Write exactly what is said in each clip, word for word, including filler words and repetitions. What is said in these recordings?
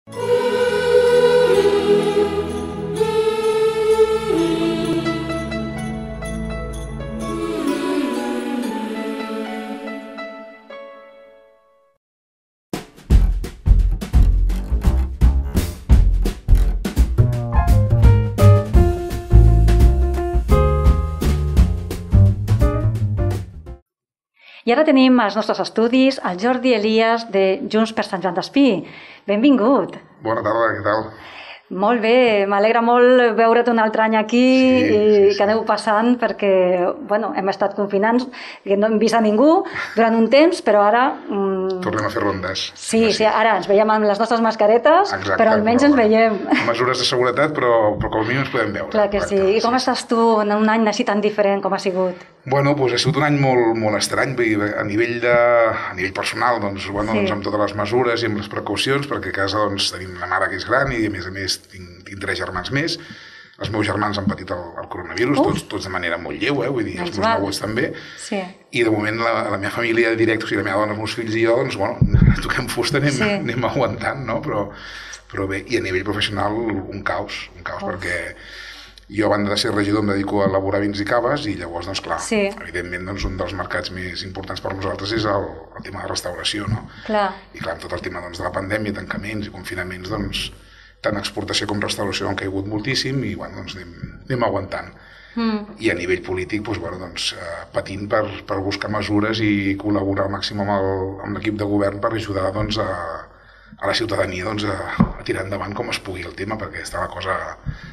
I ara tenim als nostres estudis el Jordi Elias de Junts per Sant Joan d'Espí. Benvingut. Bona tarda, què tal? Molt bé, m'alegra molt veure't un altre any aquí sí, i sí, sí. que aneu passant perquè bueno, hem estat confinant, que no hem vist a ningú durant un temps, però ara... Mm, tornem a fer rondes. Sí, sí, ara ens veiem amb les nostres mascaretes, exacte, però almenys però, ens veiem. Mesures de seguretat, però, però com a mínim ens podem veure. Clar que sí. I com sí. estàs tu en un any així tan diferent com ha sigut? Bueno, doncs ha sigut un any molt, molt estrany, a nivell, de, a nivell personal, doncs, bueno, sí. doncs, amb totes les mesures i amb les precaucions, perquè a casa doncs, tenim una mare que és gran i a més a més tinc, tinc tres germans més. Els meus germans han patit el, el coronavirus, tots, tots de manera molt lleu, eh? Vull dir, els meus neguts també. Sí. I de moment la, la meva família directa, o sigui, la meva dona, els meus fills i jo, doncs, bueno, toquem fusta, anem, sí. anem aguantant, no? Però, però bé, i a nivell professional un caos, un caos, Uf. perquè jo, a banda de ser regidor, em dedico a elaborar vins i caves i llavors, doncs clar, sí. evidentment, doncs, un dels mercats més importants per nosaltres és el, el tema de restauració, no? Clar. I clar, amb tot el tema doncs, de la pandèmia, tancaments i confinaments, doncs, tant exportació com restauració han caigut moltíssim i bueno, doncs anem, anem aguantant. Mm. I a nivell polític doncs, bueno, doncs, eh, patint per, per buscar mesures i col·laborar al màxim amb l'equip de govern per ajudar doncs, a, a la ciutadania doncs, a, a tirar endavant com es pugui el tema, perquè està la cosa,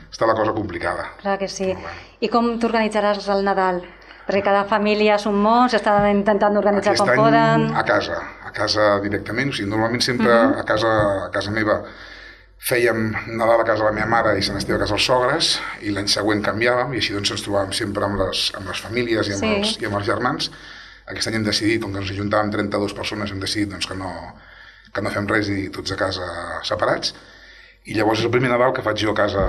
està la cosa complicada. Clar que sí. Bueno. I com t'organitzaràs el Nadal? Perquè cada família són molts, estan intentant organitzar Aquest com any, poden. A casa, a casa directament. O sigui, normalment sempre mm-hmm. a, casa, a casa meva fèiem Nadal a casa de la meva mare i Sant Esteve a casa dels sogres i l'any següent canviàvem i així doncs ens trobàvem sempre amb les, amb les famílies i amb, sí. els, i amb els germans. Aquest any hem decidit, com que ens ajuntàvem trenta-dues persones, hem decidit doncs, que, no, que no fem res i tots a casa separats. I llavors és el primer Nadal que faig jo a casa,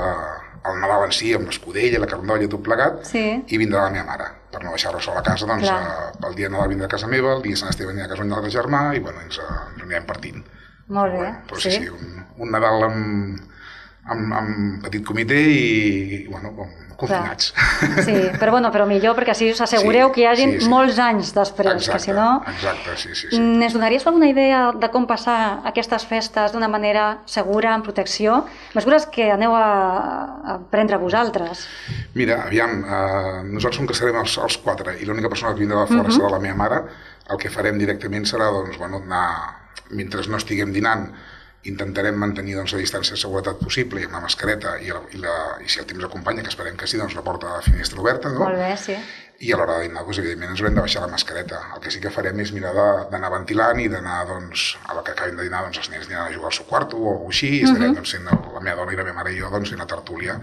el Nadal en si, amb l'escudella, la carandolla, tot plegat, sí. i vindrà la meva mare. Per no deixar-la sola a casa, doncs eh, el dia de Nadal vindrà a casa meva, el dia de Sant Esteve anirà a casa d'un altre germà i bueno, ens, ens anirem partint. Molt bé, bueno, però sí, sí, sí un, un Nadal amb, amb, amb petit comitè i, bueno, confinats. Clar. Sí, però bueno, però millor perquè així us assegureu sí, que hi hagin sí, sí. molts anys després, exacte, que si no... Exacte, sí, sí, sí. Ens donaries alguna idea de com passar aquestes festes d'una manera segura, amb protecció? Mesures que aneu a, a prendre vosaltres. Mira, aviam, eh, nosaltres com que serem els, els quatre i l'única persona que vindrà de fora uh-huh. serà la meva mare, el que farem directament serà, doncs, bueno, anar... Mentre no estiguem dinant, intentarem mantenir doncs, la distància de seguretat possible i amb la mascareta i, la, i, la, i si el temps acompanya, que esperem que sí, doncs la porta de la finestra oberta, no? Molt bé, sí. I a l'hora de dinar, doncs, evidentment, ens haurem de baixar la mascareta. El que sí que farem és mirar d'anar ventilant i d'anar, doncs, a la que acabin de dinar, doncs, els nens aniran a jugar al seu quarto o així, i estarem, uh-huh. doncs, sent la meva dona i la meva mare i jo, doncs, fent la tertúlia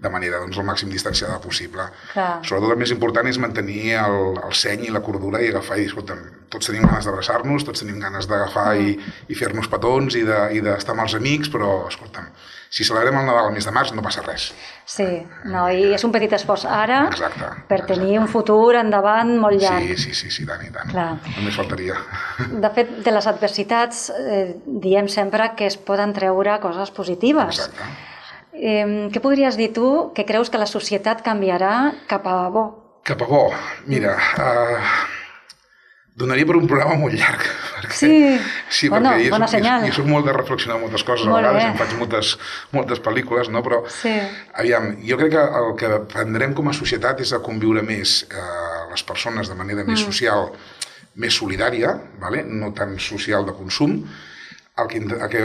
de manera doncs, el màxim distanciada possible. Clar. Sobretot el més important és mantenir el, el seny i la cordura i agafar i, escolta'm, tots tenim ganes d'abraçar-nos, tots tenim ganes d'agafar mm. i, i fer-nos petons i d'estar amb els amics, però, escolta'm, si celebrem el Nadal al mes de març no passa res. Sí, no, i és un petit esforç ara exacte, per exacte. tenir un futur endavant molt llarg. Sí, sí, sí, sí tant i tant. Clar. Només faltaria. De fet, de les adversitats eh, diem sempre que es poden treure coses positives. Exacte. Eh, què podries dir tu que creus que la societat canviarà cap a bo? Cap a bo? Mira, uh, donaria per un programa molt llarg. Perquè, sí, sí bueno, perquè bona jo, senyal. Jo, jo soc molt de reflexionar moltes coses, molt a vegades, em faig moltes, moltes pel·lícules, no? Però sí. aviam, jo crec que el que aprendrem com a societat és a conviure més eh, les persones de manera més mm. social, més solidària, vale? No tan social de consum. El que, el que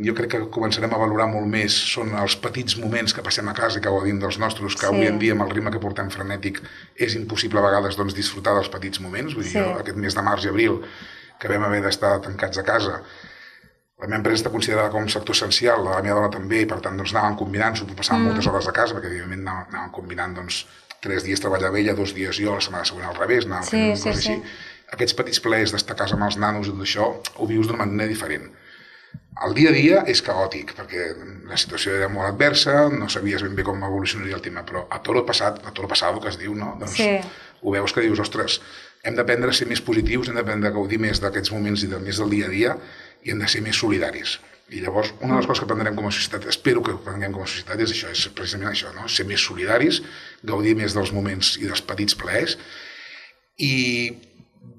jo crec que començarem a valorar molt més són els petits moments que passem a casa i que gaudim dels nostres, que sí. avui en dia amb el ritme que portem frenètic és impossible a vegades doncs, disfrutar dels petits moments. Vull dir, sí. aquest mes de març i abril que vam haver d'estar tancats a casa, la meva empresa està considerada com un sector essencial, la meva dona també, i per tant doncs, anàvem combinant, s'ho passàvem mm. moltes hores a casa, perquè evidentment anàvem, anàvem combinant doncs, tres dies treballava ella, dos dies jo, la setmana següent al revés, anàvem sí, fent sí, coses sí. així. Aquests petits plaers d'estar a casa amb els nanos i tot això, ho vius d'una manera diferent. El dia a dia és caòtic, perquè la situació era molt adversa, no sabies ben bé com evolucionaria el tema, però a toro passat, a toro passat, que es diu, no? Doncs sí. ho veus que dius, ostres, hem d'aprendre a ser més positius, hem d'aprendre a gaudir més d'aquests moments i de, més del dia a dia i hem de ser més solidaris. I llavors, una de les coses que aprendrem com a societat, espero que aprenguem com a societat, és això, és precisament això, no? Ser més solidaris, gaudir més dels moments i dels petits plaers i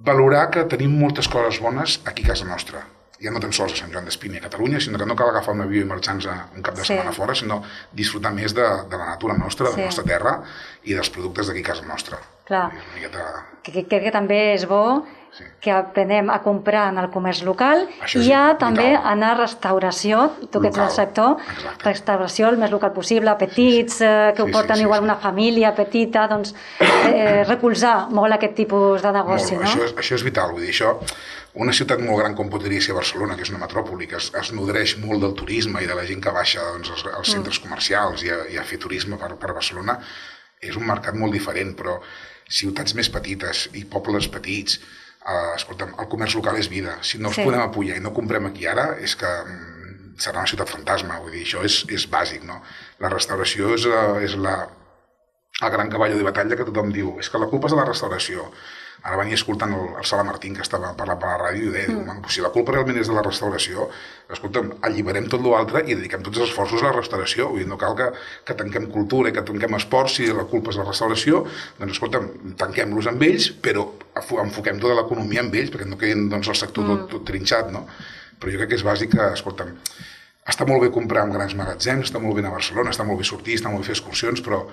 valorar que tenim moltes coses bones aquí a casa nostra. Ja no tan sols a Sant Joan d'Espí ni a Catalunya, sinó que no cal agafar un avió i marxar-nos un cap de setmana sí. fora, sinó disfrutar més de, de la natura nostra, de sí. la nostra terra i dels productes d'aquí a casa nostra. Clar, miqueta... crec que, que també és bo sí. que aprenem a comprar en el comerç local i ja també anar a restauració, tu que ets del sector, exacte. Restauració el més local possible, petits, sí, sí. Eh, que ho porten sí, sí, igual sí. una família petita, doncs eh, recolzar molt aquest tipus de negoci, molt, no? Això és, això és vital, vull dir, això, una ciutat molt gran com podria ser Barcelona, que és una metròpoli, que es, es nodreix molt del turisme i de la gent que baixa doncs, als, als centres mm. comercials i a, i a fer turisme per, per Barcelona, és un mercat molt diferent, però ciutats més petites i pobles petits, eh, escolta'm, el comerç local és vida. Si no els sí. podem apoyar i no comprem aquí ara, és que mm, serà una ciutat fantasma, vull dir, això és, és bàsic, no? La restauració és, és la, el gran cavall de batalla que tothom diu, és que la culpa és de la restauració. Ara venia escoltant el, el Sala Martín, que estava parlant per la ràdio, i deia, mm. si la culpa realment és de la restauració, escolta'm, alliberem tot l'altre i dediquem tots els esforços a la restauració. Vull dir, no cal que, que tanquem cultura i que tanquem esports si la culpa és de la restauració, doncs escolta'm, tanquem-los amb ells, però enfoquem tota l'economia amb ells, perquè no quedin doncs, el sector mm. tot, tot trinxat, no? Però jo crec que és bàsic que, escolta'm, està molt bé comprar en grans magatzems, està molt bé anar a Barcelona, està molt bé sortir, està molt bé fer excursions, però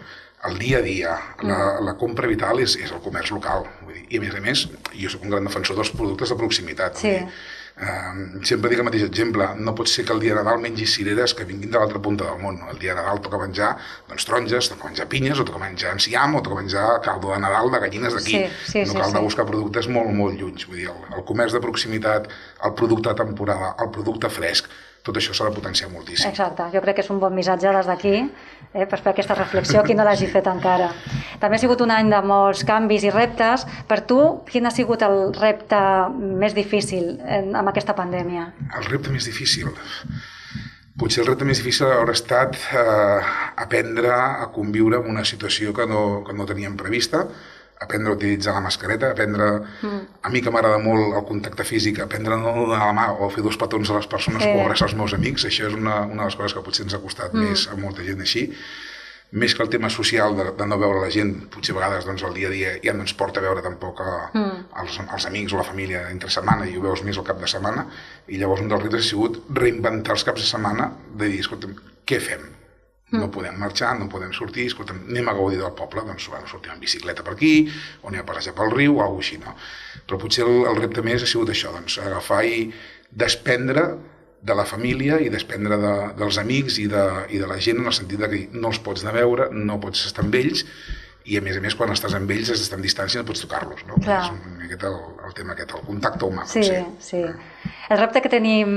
el dia a dia, la, la compra vital és, és el comerç local. Vull dir, i a més a més, jo soc un gran defensor dels productes de proximitat. Sí. Vull dir, eh, sempre dic el mateix exemple, no pot ser que el dia de Nadal mengis cireres que vinguin de l'altra punta del món. El dia de Nadal toca menjar doncs, taronges, toca menjar pinyes, o toca menjar enciam, o toca menjar caldo de Nadal de gallines d'aquí. Sí, sí, no cal sí, de buscar sí. productes molt, molt lluny. Vull dir, el, el comerç de proximitat, el producte de temporada, el producte fresc, tot això s'ha de potenciar moltíssim. Exacte, jo crec que és un bon missatge des d'aquí, eh, per fer aquesta reflexió, qui no l'hagi fet encara. També ha sigut un any de molts canvis i reptes. Per tu, quin ha sigut el repte més difícil en, amb aquesta pandèmia? El repte més difícil? Potser el repte més difícil haurà estat eh, aprendre a conviure amb una situació que no, que no teníem prevista, aprendre a utilitzar la mascareta, aprendre... Mm. A mi que m'agrada molt el contacte físic, aprendre a no donar la mà o fer dos petons a les persones sí. o abraçar els meus amics, això és una, una de les coses que potser ens ha costat mm. més a molta gent així. Més que el tema social de, de no veure la gent, potser a vegades doncs, el dia a dia ja no ens porta a veure tampoc a, mm. els, els amics o la família entre setmana i ho veus més al cap de setmana, i llavors un dels reptes ha sigut reinventar els caps de setmana de dir, escolta'm, què fem? No podem marxar, no podem sortir, escolta'm, anem a gaudir del poble, doncs bueno, sortim en bicicleta per aquí, o anem a passejar pel riu, o alguna cosa així, no? Però potser el, el repte més ha sigut això, doncs, agafar i desprendre de la família i desprendre de, dels amics i de, i de la gent, en el sentit de que no els pots anar a veure, no pots estar amb ells, i a més a més quan estàs amb ells has d'estar en distància i no pots tocar-los, no? Clar. És un, aquest el, el tema aquest, el contacte humà, sí, potser. Sí, sí. El repte que tenim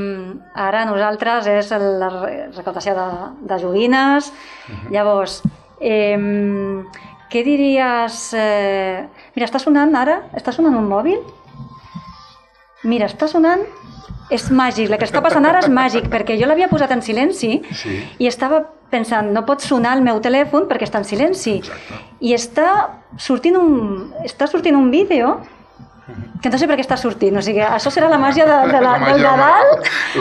ara nosaltres és la recaptació de, de joguines. Uh-huh. Llavors, eh, què diries... Eh... Mira, està sonant ara? Està sonant un mòbil? Mira, està sonant... És màgic, el que està passant ara és màgic, perquè jo l'havia posat en silenci sí. i estava pensant, no pot sonar el meu telèfon perquè està en silenci. Exacte. I està sortint un, està sortint un vídeo que no sé per què està sortint, o sigui, això serà la màgia de, de la, la del Nadal.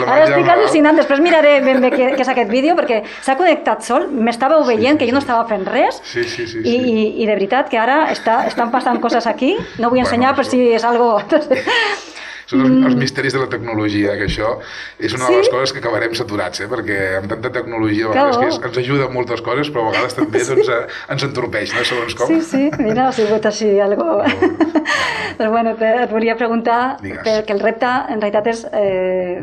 Ara estic al·lucinant, després miraré ben bé què, què és aquest vídeo, perquè s'ha connectat sol, m'estàveu veient sí, sí, que jo no estava fent res, sí, sí, sí, i, sí. i, i de veritat que ara està, estan passant coses aquí, no vull ensenyar bueno, per si és algo... Són els, els misteris de la tecnologia, que això és una sí? de les coses que acabarem saturats, eh? Perquè amb tanta tecnologia a vegades que és, ens ajuda en moltes coses, però a vegades també doncs, ens entorpeix, no? Segons com. Sí, sí, mira, ha sigut així, algo... Però bueno, et volia preguntar, Digues. perquè el repte en realitat és eh,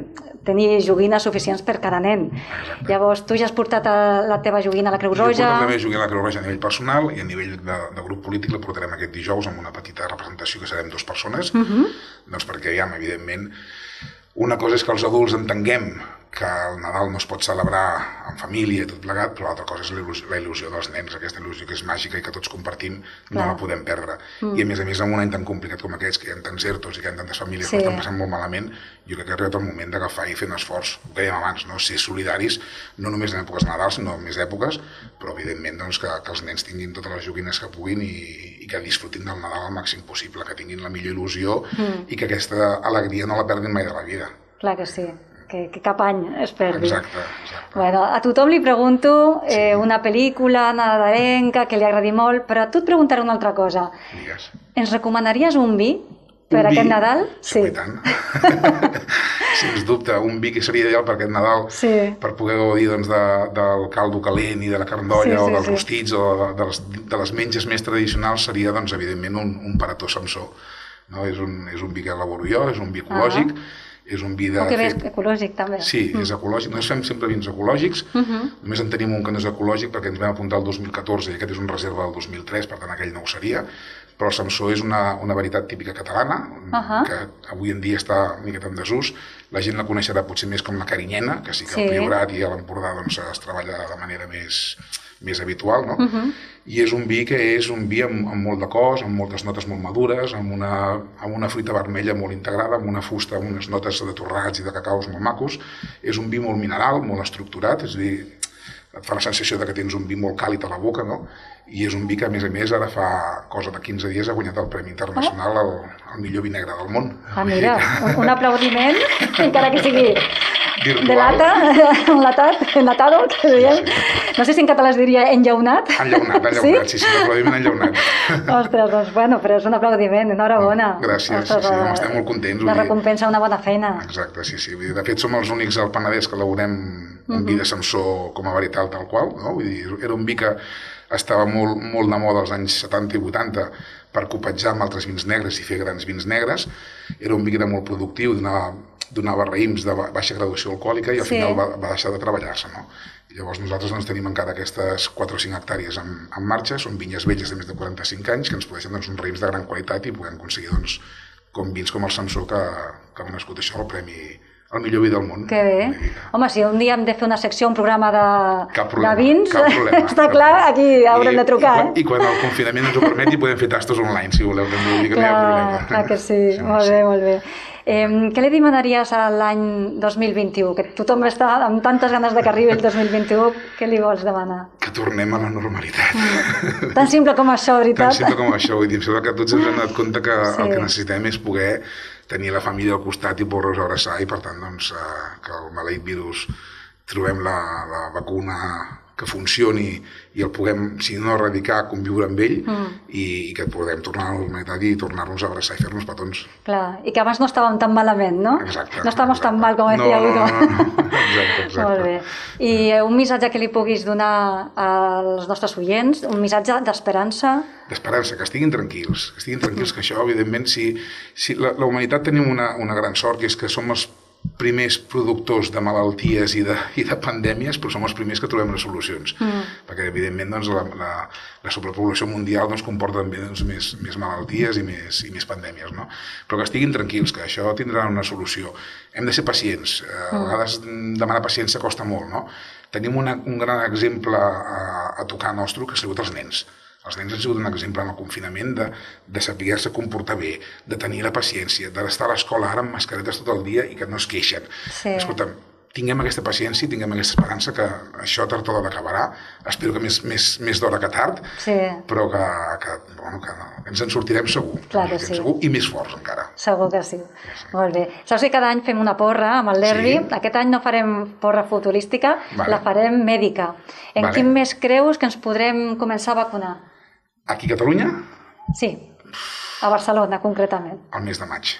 tenir joguines suficients per cada nen. Exacte. Llavors, tu ja has portat a la teva joguina a la Creu Roja? Jo he portat la meva joguina a la Creu Roja a nivell personal i a nivell de, de grup polític la portarem aquest dijous amb una petita representació que serem dues persones, uh-huh. doncs perquè ja, evidentment, una cosa és que els adults entenguem que el Nadal no es pot celebrar en família i tot plegat, però l'altra cosa és la il·lusió, la il·lusió dels nens, aquesta il·lusió que és màgica i que tots compartim, no Clar. la podem perdre. Mm. I a més a més, en un any tan complicat com aquests, que hi ha tants ertos i que hi ha tantes famílies sí. que estan passant molt malament, jo crec que ha arribat el moment d'agafar i fer un esforç, ho dèiem abans, no? Ser solidaris, no només en èpoques Nadals, sinó en més èpoques, però evidentment doncs, que, que els nens tinguin totes les joguines que puguin i, i que disfrutin del Nadal al màxim possible, que tinguin la millor il·lusió mm. i que aquesta alegria no la perdin mai de la vida. Clar que sí. que, que cap any es perdi. Exacte, exacte. Bueno, a tothom li pregunto eh, una pel·lícula nadalenca que li agradi molt, però a tu et preguntaré una altra cosa. Digues. Ens recomanaries un vi per un aquest vi? Nadal? Sí, i tant. Sens dubte, un vi que seria ideal per aquest Nadal, sí. per poder gaudir doncs, de, del caldo calent i de la carn d'olla, sí, sí, o dels sí. rostits, o de, de, les, de les menges més tradicionals, seria, doncs, evidentment, un, un Parató Samsó. No? És, un, és un vi que elaboro jo, és un vi ecològic, ah. és un vi de... O que bé, ecològic, també. Sí, mm. és ecològic. Nosaltres fem sempre vins ecològics, uh -huh. només en tenim un que no és ecològic perquè ens vam apuntar el dos mil catorze i aquest és un reserva del dos mil tres, per tant aquell no ho seria, però el Samsó és una, una varietat típica catalana, uh -huh. que avui en dia està una miqueta en desús. La gent la coneixerà potser més com la carinyena, que sí que sí. al Priorat i a l'Empordà doncs, es treballa de manera més, més habitual, no? Uh -huh. I és un vi que és un vi amb, amb molt de cos, amb moltes notes molt madures, amb una, amb una fruita vermella molt integrada, amb una fusta, amb unes notes de torrats i de cacaus molt macos. És un vi molt mineral, molt estructurat, és a dir, et fa la sensació de que tens un vi molt càlid a la boca, no? I és un vi que, a més a més, ara fa cosa de quinze dies ha guanyat el Premi Internacional al, al millor vi negre del món. Ah, mira, un, un aplaudiment, encara que sigui virtual. De lata, enlatat, enlatado, que diem. Sí, sí. No sé si en català es diria enllaunat. Enllaunat, enllaunat, sí, sí, sí l'aplaudiment enllaunat. Ostres, doncs, bueno, però és un aplaudiment, enhorabona. Gràcies, Ostres, sí, sí, home, estem molt contents. La recompensa una bona feina. Exacte, sí, sí. De fet, som els únics al Penedès que elaborem un vi de Samsó com a varietal tal qual, no? Vull dir, era un vi que estava molt, molt de moda als anys setanta i vuitanta per copejar amb altres vins negres i fer grans vins negres. Era un vi que era molt productiu, donava, donava raïms de baixa graduació alcohòlica i al sí. final va, va deixar de treballar-se, no? I llavors nosaltres doncs, tenim encara aquestes quatre o cinc hectàrees en, en marxa, són vinyes velles de més de quaranta-cinc anys que ens produeixen doncs, uns raïms de gran qualitat i podem aconseguir doncs, com vins com el Samsó que, que han nascut això al Premi el millor vi del món. Que bé. Home, si un dia hem de fer una secció, un programa de, cap problema, de vins, cap problema, està cap clar, aquí haurem I, de trucar. I quan, I quan el confinament ens ho permeti podem fer tastos online, si voleu, també vull dir que clar, no hi ha problema. Clar que sí, sí molt sí. bé, molt bé. Eh, què li demanaries a l'any dos mil vint-i-u? Que tothom està amb tantes ganes de que arribi el dos mil vint-i-u, què li vols demanar? Que tornem a la normalitat. Mm. Tan simple com això, veritat? Tan simple com això, vull dir, em sembla que tots ens hem donat compte que sí. el que necessitem és poder tenir la família al costat i poder-los abraçar i per tant doncs, eh, que el maleït virus trobem la, la vacuna que funcioni i el puguem, si no erradicar, conviure amb ell mm. i, i que podem tornar a la normalitat i tornar-nos a abraçar i fer-nos petons. Clar, i que abans no estàvem tan malament, no? Exacte. No estàvem tan mal, com decía no, uno. No, no, no, exacte, exacte. Molt bé. I un missatge que li puguis donar als nostres oients, un missatge d'esperança? D'esperança, que estiguin tranquils, que estiguin tranquils, que això, evidentment, si, si la, la humanitat tenim una, una gran sort, que és que som els primers productors de malalties i de, i de pandèmies, però som els primers que trobem les solucions. Mm. Perquè, evidentment, doncs, la, la, la sobrepoblació mundial doncs, comporta també doncs, més, més malalties i més, i més pandèmies. No? Però que estiguin tranquils, que això tindrà una solució. Hem de ser pacients. A vegades demanar paciència costa molt. No? Tenim una, un gran exemple a, a tocar nostre, que ha sigut els nens. Els nens han sigut un exemple en el confinament de, de saber-se comportar bé, de tenir la paciència, d'estar a l'escola ara amb mascaretes tot el dia i que no es queixen. Sí. Escolta'm, tinguem aquesta paciència, tinguem aquesta esperança que això tard o d'hora acabarà. Espero que més, més, més d'hora que tard, sí. però que, que, bueno, que, no, que ens en sortirem segur. Clar que sí. Segur, i més forts encara. Segur que sí. sí. Molt bé. Saps que cada any fem una porra amb el derbi? Sí. Aquest any no farem porra futurística, vale. La farem mèdica. En vale. Quin mes creus que ens podrem començar a vacunar? Aquí a Catalunya? Sí, a Barcelona concretament. Al mes de maig.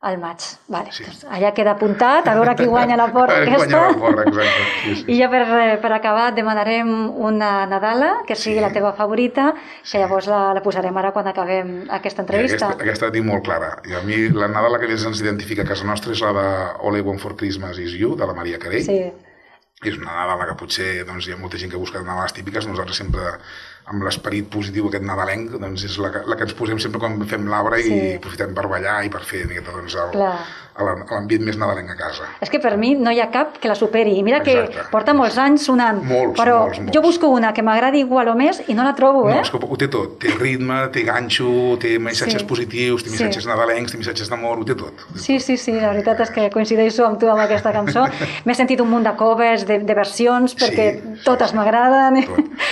Al maig, vale. Sí. Doncs allà queda apuntat, a veure qui guanya la porra aquesta. Guanya la porra, exacte. Sí, sí. I ja per, per acabar demanarem una Nadala, que sigui sí. la teva favorita, que llavors la, la posarem ara quan acabem aquesta entrevista. Aquesta, aquesta la tinc molt clara. I a mi la Nadala que més ens identifica a casa nostra és la de All I Want for Christmas is You, de la Maria Carey. Sí. És una Nadala que potser doncs, hi ha molta gent que busca Nadales típiques, nosaltres sempre amb l'esperit positiu aquest nadalenc, doncs és la que, la que ens posem sempre quan fem l'arbre sí. i aprofitem per ballar i per fer doncs, l'ambient més nadalenc a casa. És que per mi no hi ha cap que la superi. I mira Exacte. Que porta molts anys sonant, molts, però molts, molts. jo busco una que m'agradi igual o més i no la trobo, eh? No, és que ho té tot. Té ritme, té ganxo, té missatges sí. positius, té missatges sí. nadalencs, té missatges d'amor, ho té tot. Ho té sí, tot. sí, sí, la veritat és que coincideixo amb tu amb aquesta cançó. M'he sentit un munt de covers, de, de versions, perquè sí, totes sí, m'agraden. I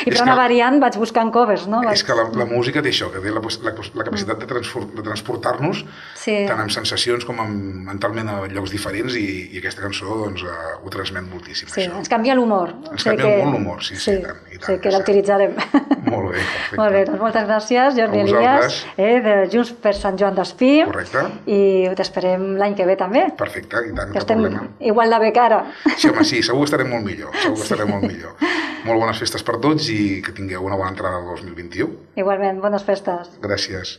per una que... variant vaig buscant covers, no? És que la, la música té això, que té la, la, la capacitat de, de transportar-nos sí. tant amb sensacions com amb, mentalment a llocs diferents i, i aquesta cançó doncs, uh, ho transmet moltíssim. Sí, això. ens canvia l'humor. Ens canvia que... molt l'humor, sí, sí, sí, i tant. I tant sí, que l'utilitzarem. Molt bé, perfecte. Molt bé, doncs moltes gràcies, Jordi Elias, eh, de Junts per Sant Joan d'Espí. Correcte. I t'esperem l'any que ve també. Perfecte, i tant, que cap estem problema. Igual de bé que ara. Sí, home, sí, segur que estarem molt millor, segur que estarem sí. molt millor. Molt bones festes per tots i que tingueu una bona entrada al dos mil vint-i-u. Igualment, bones festes. Gràcies.